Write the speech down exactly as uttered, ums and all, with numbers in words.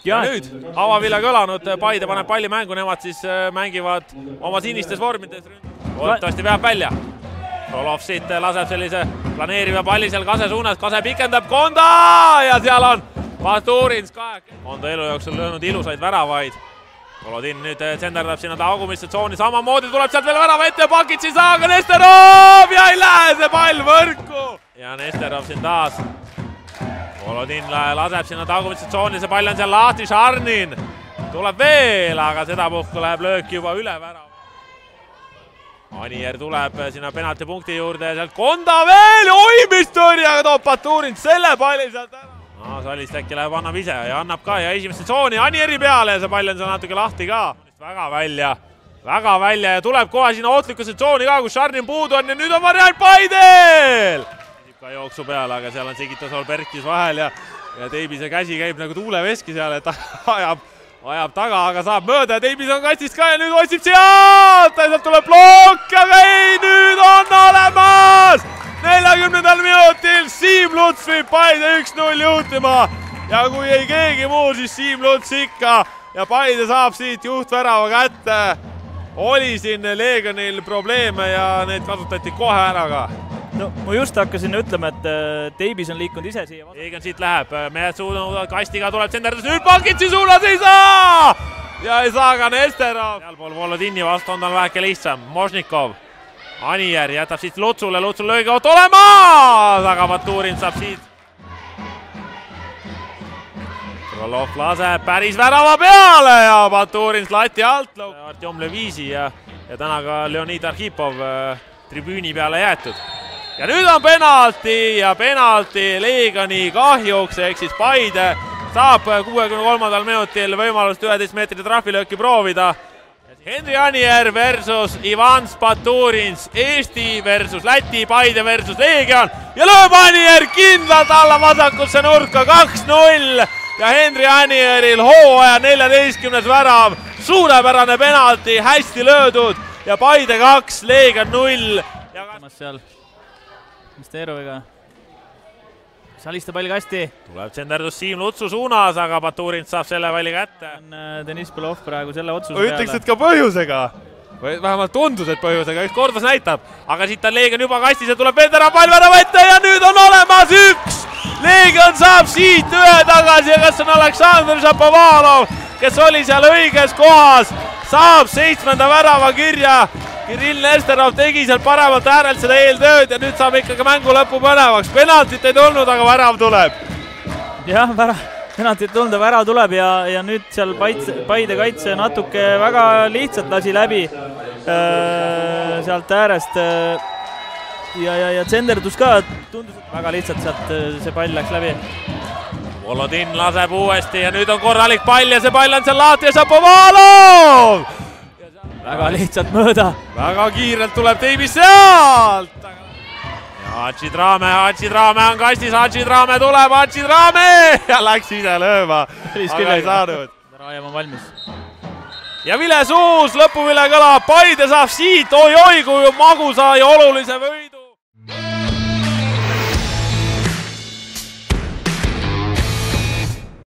ja nüüd avavile kõlanud, Paide paneb palli mängu, nemad siis mängivad oma sinistes vormides. Loodetavasti veab välja. Rolov siit laseb sellise planeeriva palli seal Kase suunas, Kase pikendab Konda ja seal on Baturins ka. Konda elu jooksul löönud ilusaid väravaid. Volodin nüüd tsenderdab sinna taugumisse tsooni, samamoodi tuleb sealt veel värava ette ja pakid siis aga Nesterov ja ei lähe see pall võrku. Ja Nesterov siin taas. Volodin laseb sinna taugumisse tsooni, see pall on seal lahti, Šarnin tuleb veel, aga sedapuhku läheb löök juba üle värava. Anier tuleb sinna penaltipunkti juurde ja sealt Konda veel, oi mis tõrjaga toob Baturins selle palli sealt ära. No, Salist äkki läheb, annab ise ja annab ka ja esimesse tsooni Anieri peale ja see pall on seal natuke lahti ka. Väga välja, väga välja ja tuleb kohe sinna ootlikusse tsooni ka, kus Šarnin puudu on ja nüüd on variant Paidel! Ka jooksu peale, aga seal on Sigitasol Berkis vahel ja, ja Teibise käsi käib nagu tuuleveski seal, et ajab, ajab taga, aga saab mööda ja Teibis on kastist ka ja nüüd otsib sealt ja sealt tuleb blokk, aga ei, nüüd on olemas! neljakümnendal minutil Siim Luts viib Paide üks null juhtima ja kui ei keegi muu, siis Siim Luts ikka ja Paide saab siit juhtvärava kätte. Oli siin Leegionil probleeme ja need kasutati kohe ära ka. No ma just hakkasin ütlema, et Teibis on liikunud ise siia. Leegion siit läheb, mehed suunud kastiga tuleb tsenderdus, nüüd Pakitsi suunas ei saa! Ja ei saa ka Nesterov. Sealpool Volodini vastu on tal väheke lihtsam, Možnikov. Anier jätab siit Lutsule, Lutsul löögi oot olemas, aga Baturins saab siit. Rolov laseb päris värava peale ja Baturins lati alt. Artjom Leviisi ja, ja täna ka Leonid Arhipov äh, tribüüni peale jäetud. Ja nüüd on penalti ja penalti Leegioni kahjuks, ehk siis Paide saab kuuekümne kolmandal minutil võimalust üheteist meetri trahvilööki proovida. Henri Anier versus Ivan Baturins, Eesti versus Läti, Paide versus Leegion ja lööb Anier kindlalt alla vasakusse nurka kaks null ja Henri Anieril hooaja neljateistkümnes värav, suurepärane penalti, hästi löödud ja Paide kaks, Leegion null. Seal Nesteroviga Saliste palli kasti. Tuleb tsenderdus Siim Lutsu suunas, aga Baturins saab selle palli kätte. Deniss Belov praegu selle otsuse peale. Ütleks, et ka põhjusega. Või vähemalt tundus, et põhjusega. Üks kordus näitab. Aga siit on Leegion juba kastis ja tuleb Vendera pall värava ette ja nüüd on olemas üks! Leegion saab siit ühe tagasi ja kas on Aleksandr Šapovalov, kes oli seal õiges kohas, saab seitsmenda värava kirja. Kirill Nesterov tegi seal paremalt äärelt seda eeltööd ja nüüd saab ikkagi mängu lõpu põnevaks. Penaltit ei tulnud, aga värav tuleb. Jah, penaltit tulnud ja värav tuleb ja, ja nüüd seal Paide kaitse natuke väga lihtsalt lasi läbi äh, sealt äärest äh, ja, ja, ja tsenderdus ka tundus, et väga lihtsalt sealt see pall läks läbi. Volodin laseb uuesti ja nüüd on korralik pall ja see pall on seal lahti ja Šapovalov! Väga lihtsalt mööda. Väga kiirelt tuleb Teibis sealt. Ja Hadžidrame, Hadžidrame on kastis, Hadžidrame tuleb, Hadžidrame ja läks ise lööma. Aga ei saanud. Raev on valmis. Ja Vile Suus lõpuvile kõlab, Paide saab siit, oi-oi, kui magusa ja olulise võid.